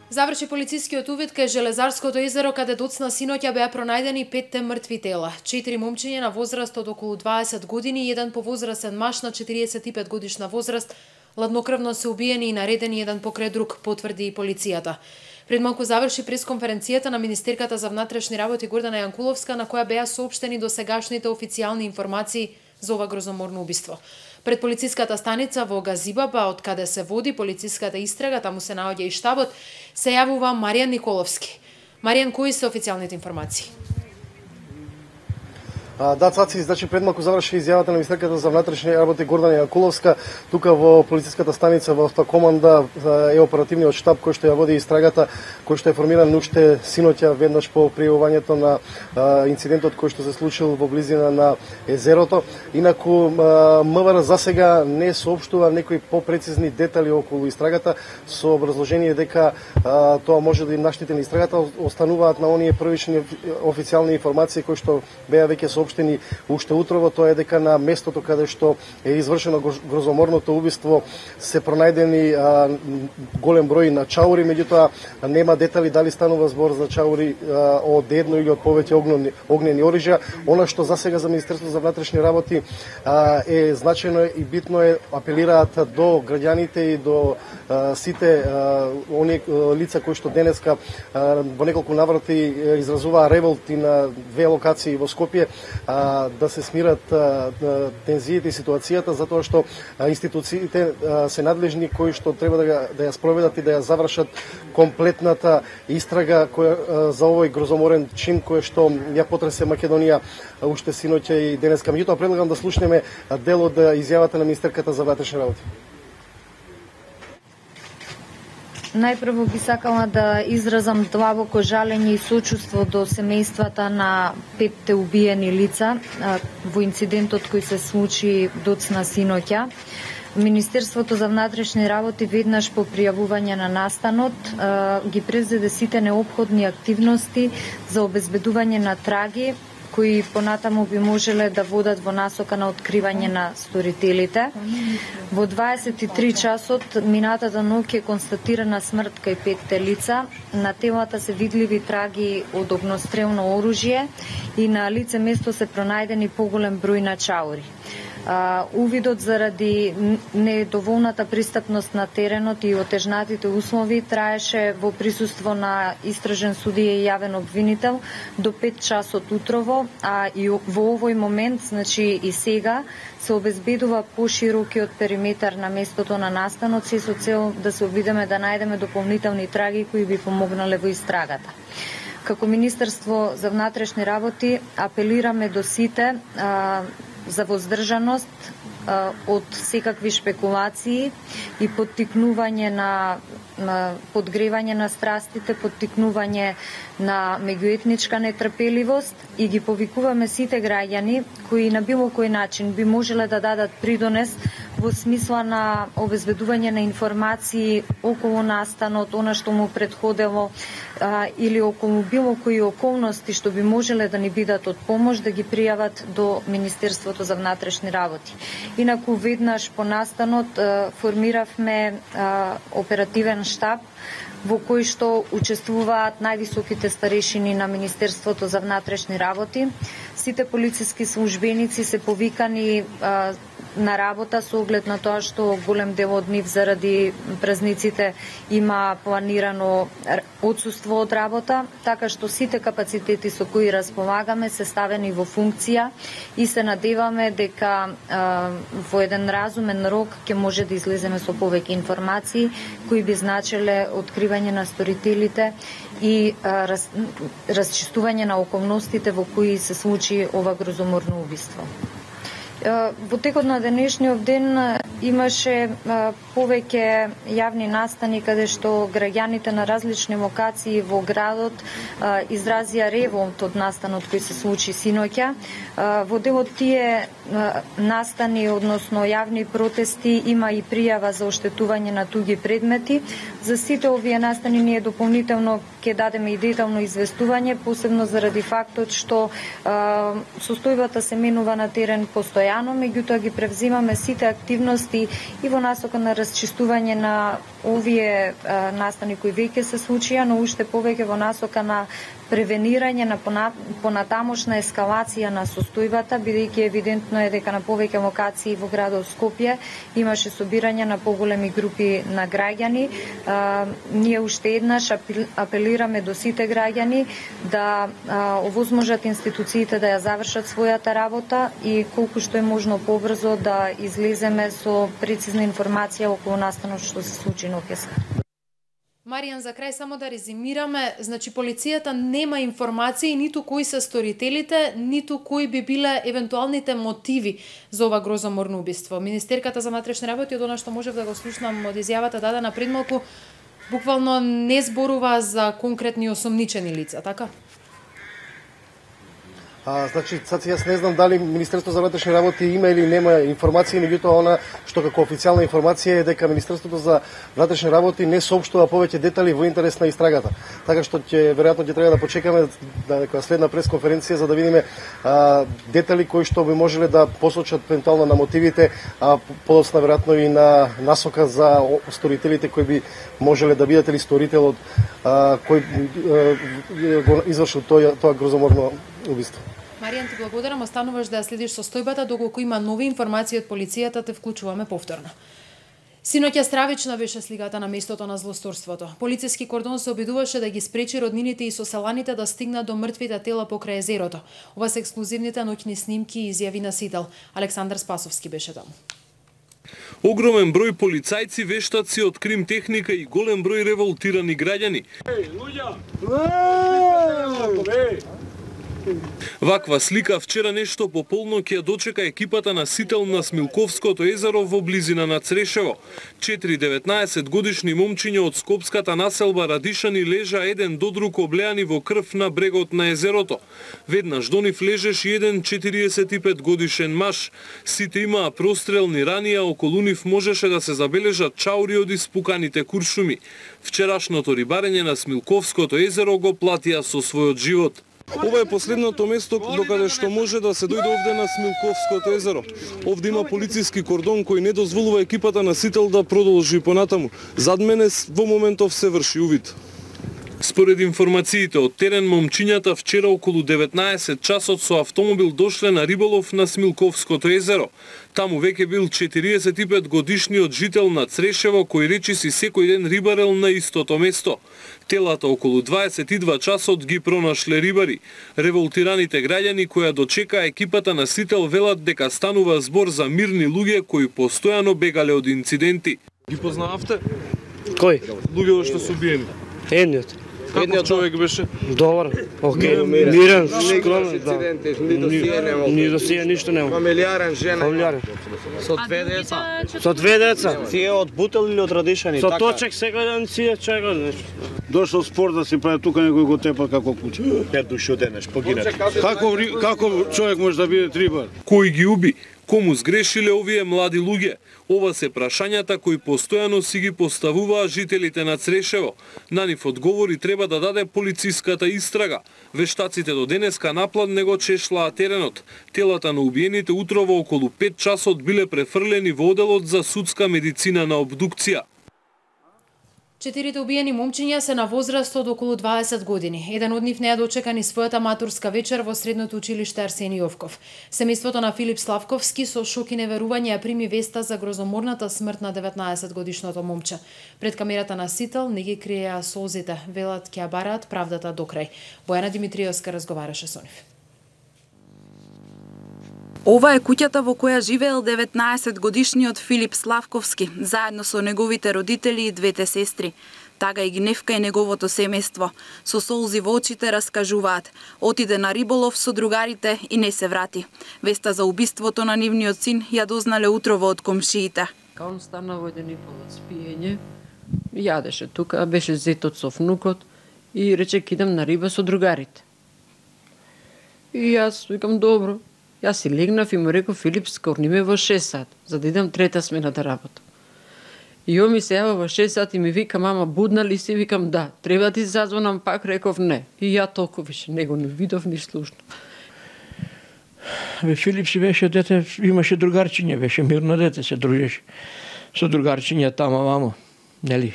Заврши полицискиот увид кај Железарското езеро, каде доцна синоќа беа пронајдени 5 мртви тела. 4 момчиња на возраст од околу 20 години и еден повозрасен маж на 45 годишна возраст ладнокрвно се убиени и наредени еден покрај друг, потврди и полицијата. Пред малку заврши пресконференцијата на министерката за внатрешни работи Гордана Јанкуловска, на која беа соопштени досегашните официјални информации за ова грозоморно убиство. Пред полициската станица во Газибаба, од каде се води полициската истрага, таму се наоѓа и штабот, се јавува Маријан Николовски. Маријан, кои се официјалните информации? Да, Цаци, значи пред малку заврши изјавата на министерката за внатрешни работи Гордана Јанкуловска. Тука во полициската станица во автокоманда е оперативниот штаб кој што ја води истрагата, кој што е формиран уште синоќа веднаш по пријавувањето на инцидентот кој што се случил во близина на езерото. Инаку МВР засега не соопштува некои попрецизни детали околу истрагата со образложение дека тоа може да им наштети на истрагата. Остануваат на оние првични официјални информации кои што беа веќе соопштени уште утрово, тоа е дека на местото каде што е извршено грозоморното убиство се пронајдени голем број на чаури, меѓутоа нема детали дали станува збор за чаури од едно или од повеќе огнени оружја. Она што засега за Министерството за внатрешни работи е значајно и битно е, апелираат до граѓаните и до сите оние лица кои што денеска во неколку наврати изразуваа револти на две локации во Скопје, да се смират тензиите и ситуацијата, затоа што институциите се надлежни кои што треба да ја спроведат и да ја завршат комплетната истрага за овој грозоморен чин кој што ја потресе Македонија уште синоќа и денеска. Меѓутоа предлагам да слушнеме дел од изјавата на министерката за внатрешни работи. Најпрво би сакала да изразам длабоко жалење и сочувство до семејствата на 5 убиени лица во инцидентот кој се случи доцна синоќа. Министерството за внатрешни работи веднаш по пријавување на настанот ги презеде сите неопходни активности за обезбедување на траги кои понатаму би можеле да водат во насока на откривање на сторителите. Во 23 часот минатата ноќ е констатирана смрт кај 5 лица. На телата се видливи траги од огнострелно оружје и на лице место се пронајдени поголем број на чаури. Увидот заради недоволната пристапност на теренот и отежнатите услови траеше во присуство на истражен судија и јавен обвинител до 5 часот утрово, а и во овој момент, значи и сега, се обезбедува поширокиот периметар на местото на настанот се со цел да се обидеме да најдеме дополнителни траги кои би помогнале во истрагата. Како Министерство за внатрешни работи апелираме до сите за воздржаност од секакви шпекулации и поттикнување на подгревање на страстите, поттикнување на меѓуетничка нетрпеливост и ги повикуваме сите граѓани кои на било кој начин би можеле да дадат придонес во смисла на обезбедување на информации околу настанот, она што му претходело или околу било кои околности што би можеле да ни бидат од помош, да ги пријават до Министерството за внатрешни работи. Инаку веднаш по настанот формиравме оперативен штаб во кој што учествуваат највисоките старешини на Министерството за внатрешни работи. Сите полициски службеници се повикани на работа со оглед на тоа што голем дел од нив заради празниците има планирано отсуство од работа, така што сите капацитети со кои располагаме се ставени во функција и се надеваме дека во еден разумен рок ќе може да излеземе со повеќе информации кои би значеле откривање на сторителите и расчистување на околностите во кои се случи ова грозоморно убиство. Во текот на денешниот ден имаше повеќе јавни настани каде што граѓаните на различни локации во градот изразија револт од настанот кој се случи синоќа. Во дел од тие настани, односно јавни протести, има и пријава за оштетување на туѓи предмети. За сите овие настани ние дополнително ќе дадеме и детално известување, посебно заради фактот што состојбата се менува на терен постојано постојано, меѓутоа ги превзимаме сите активности и во насока на расчистување на овие настани кои веќе се случија, но уште повеќе во насока на превенирање на понатамошна ескалација на состојбата, бидејќи евидентно е дека на повеќе локации во градот Скопје имаше собирање на поголеми групи на граѓани. Ние уште еднаш апелираме до сите граѓани да овозможат институциите да ја завршат својата работа и колку што е можно побрзо да излеземе со прецизна информација околу настанот што се случи ноќеска. Маријан, за крај само да резимираме, значи полицијата нема информации ниту кои се сторителите, ниту кои би биле евентуалните мотиви за ова грозоморно убиство. Министерката за внатрешни работи, од она што можев да го слушнам од изјавата дадена пред малку, буквално не зборува за конкретни осомничени лица, така? Значи, јас не знам дали Министерството за внатрешни работи има или нема информација, меѓутоа она што како официјална информација е дека Министерството за внатрешни работи не соопштува повеќе детали во интерес на истрагата. Така што веројатно ќе треба да почекаме дека следна пресконференција за да видиме детали кои што би можеле да посочат евентуално на мотивите, подоцна веројатно и на насока за сторителите кои би можеле да бидат или сторителот кој го извршил тоа грозоморно убиство. Маријан, ти благодарам, остануваш да ја следиш состојбата, доколку има нови информации од полицијата, те вклучуваме повторно. Синоќа стравична беше сликата на местото на злосторството. Полициски кордон се обидуваше да ги спречи роднините и соселаните да стигнат до мртвите тела покрај езерото. Ова се ексклузивните ноќни снимки и изјави на Сител. Александар Спасовски беше таму. Огромен број полицајци, вештаци од крим техника и голем број револтирани граѓани. Ваква слика вчера нешто по полнок ја дочека екипата на Сител на Смилковското езеро во близина на Црешево. 4 19-годишни момчиња од скопската населба Радишани лежа еден до друг облеани во крв на брегот на езерото. Веднаш до нив лежеше еден 45-годишен маж. Сите имаа прострелни рани, а околу нив можеше да се забележат чаури од испуканите куршуми. Вчерашното рибарење на Смилковското езеро го платија со својот живот. Ова е последното место докаде што може да се дојде овде на Смилковското езеро. Овде има полициски кордон кој не дозволува екипата на Сител да продолжи понатаму. Зад мене во моментов се врши увид. Според информациите од терен, момчињата вчера околу 19 часот со автомобил дошле на риболов на Смилковското езеро. Таму веќе бил 45 годишниот жител на Црешево кој речиси секој ден рибарел на истото место. Телата околу 22 часот ги пронашле рибари. Револтираните граѓани која дочека екипата на Сител велат дека станува збор за мирни луѓе кои постојано бегале од инциденти. Ги познававте? Кој? Луѓето што се убиени. Едниот. Каков човек беше? Добар, окей, мирен, скромен, да. Ни досија ништо нема. Фамилиарен, жена. Фамилиарен. Со две деца. Со две деца. Тие од Бутел или од Радишани? Со точек секој ден си чека нешто. Дошол спор да се прави тука некој го тепа како куче. 5 души оденеш погина. Како човек може да биде рибар? Кој ги уби? Кому сгрешиле овие млади луѓе? Ова се прашањата кои постојано си ги поставуваа жителите на Црешево. На нив одговори треба да даде полициската истрага. Вештаците до денеска наплан не го чешлаа теренот. Телата на убиените утрово околу 5 часот биле префрлени во оделот за судска медицина на обдукција. 4 убиени момчиња се на возраст од околу 20 години. Еден од нив не ја дочека ни својата матурска вечер во средното училиште Арсени Јовков. Семејството на Филип Славковски со шок и неверување ја прими веста за грозоморната смрт на 19-годишното момче. Пред камерата на Сител не ги криеа солзите, велат ќе ја бараат правдата до крај. Бојана Димитриевска разговараше со нив. Ова е куќата во која живеел 19-годишниот Филип Славковски, заедно со неговите родители и двете сестри. Тага и Гневка и неговото семејство. Со солзи во очите раскажуваат. Отиде на риболов со другарите и не се врати. Веста за убиството на нивниот син ја дознале утрово од комшиите. Он стана во еден и пол од спиење, јадеше тука, беше зетот со внукот и рече идам на риба со другарите. И јас викам добро. Јас си легнав и му реков Филип, скорни ме во 6 сат, за да идам трета смена да работам. И он ми се јава во 6 сат и ми вика, мама, будна ли си? Викам, да. Треба ти зазвонам пак? Реков, не. И ја толку више него не видов, ни слушнав. Филип си беше дете, имаше другарчиња, беше мирно дете, се дружеше со другарчиња тамо вамо, нели?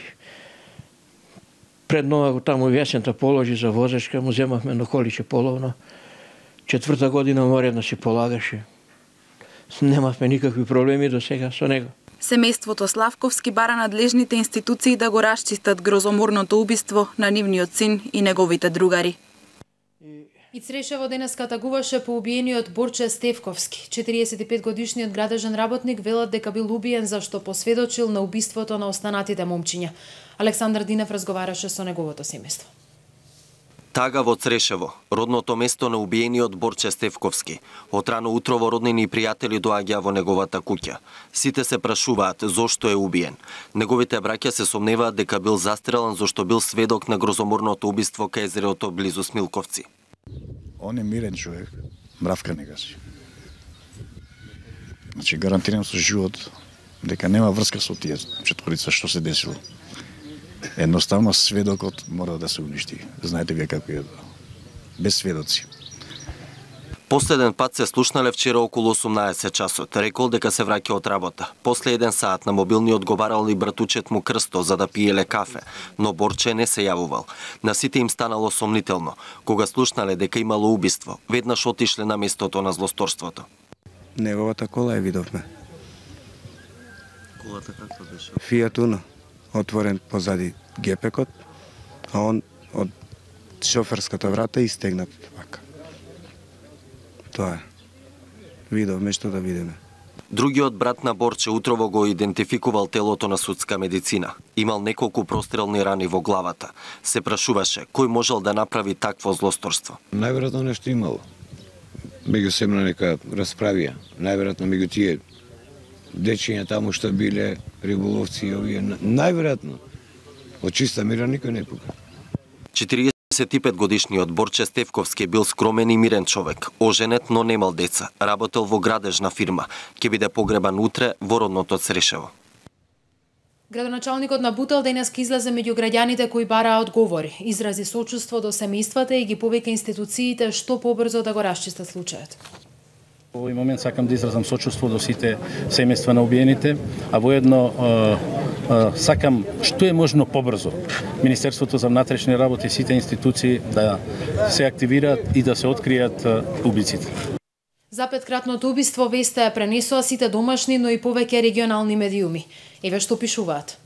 Пред нова таму весента положи за возачка, му земавме на количе половно. 4-та година моредно си полагаше. Немавме никакви проблеми до сега со него. Семејството Славковски бара надлежните институции да го расчистат грозоморното убиство на нивниот син и неговите другари. И Црешево денеска тагуваше по убиениот Борче Стефковски. 45-годишниот градежен работник велат дека бил убиен зашто посведочил на убиството на останатите момчиња. Александар Динев разговараше со неговото семејство. Тага во Црешево, родното место на убиениот Борче Стефковски. Од рано утрово роднини и пријатели доаѓаа во неговата куќа. Сите се прашуваат зошто е убиен. Неговите браќа се сомневаат дека бил застрелан зашто бил сведок на грозоморното убиство кај езерото близу Смилковци. Он е мирен човек, мравка не гаси. Значи гарантирам со живот дека нема врска со тие четворица што се десило. Едноставно сведокот мора да се уништи. Знаете вие како е без сведоци. Последен пат се слушнале вчера околу 18 часот. Рекол дека се враќа од работа. После 1 саат на мобилни одговарал и братучет му Крсто за да пиеле кафе, но Борче не се јавувал. На сите им станало сомнително. Кога слушнале дека имало убиство, веднаш отишле на местото на злосторството. Неговата кола ја видовме. Колата каква беше? Фијат Уно, отворен позади гепекот, а он од шоферската врата истегнат вака. Тоа е. Видовме што да видиме. Другиот брат на Борче утрово го идентификувал телото на судска медицина. Имал неколку прострелни рани во главата. Се прашуваше кој можел да направи такво злосторство. Најверојатно нешто имало. Меѓу семна нека расправија. Најверојатно меѓу тие дечиња таму што биле риболовци и овие. Најверојатно од чиста мира никој не пука. 45-годишниот Борче Стефковски бил скромен и мирен човек, оженет, но немал деца, работел во градежна фирма, ќе биде погребан утре во родното Црешево. Градоначалникот на Бутел денеска излезе меѓу граѓаните кои бараа одговори, изрази сочувство до семејствата и ги повика институциите што побрзо да го расчистат случајот. Во овој момент сакам да изразам сочувство до сите семејства на убиените, а воедно сакам што е можно побрзо Министерството за внатрешни работи и сите институции да се активираат и да се откријат убиците. За петкратното убиство веста ја пренесоа сите домашни, но и повеќе регионални медиуми. Еве што пишуваат.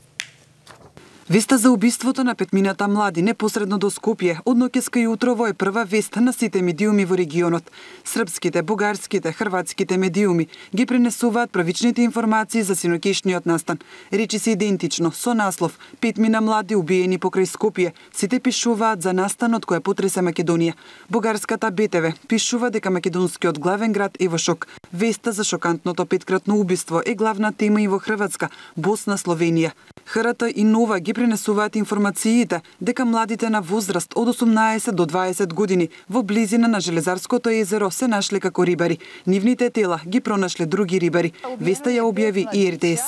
Веста за убиството на петмината млади непосредно до Скопје од ноќеска и утрово е прва вест на сите медиуми во регионот. Српските, бугарските, хрватските медиуми ги пренесуваат правичните информации за синоќешниот настан. Речи се идентично со наслов "Петмина млади убиени покрај Скопје". Сите пишуваат за настанот кој потресе Македонија. Бугарската БТВ пишува дека македонскиот главен град е во шок. Веста за шокантното петкратно убиство е главна тема и во Хрватска, Босна, Словенија. ХРТ и Нова ги пренесуваат информациите дека младите на возраст од 18 до 20 години во близина на Железарското езеро се нашле како рибари. Нивните тела ги пронашле други рибари. Веста ја објави и РТС.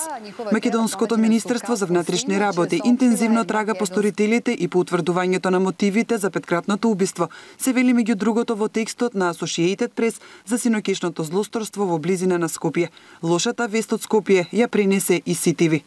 Македонското министерство за внатрешни работи интензивно трага по сторителите и по утврдувањето на мотивите за петкратното убиство. Се вели меѓу другото во текстот на Associated Press за синоќешното злосторство во близина на Скопје. Лошата вест од Скопје ја пренесе и СТВ.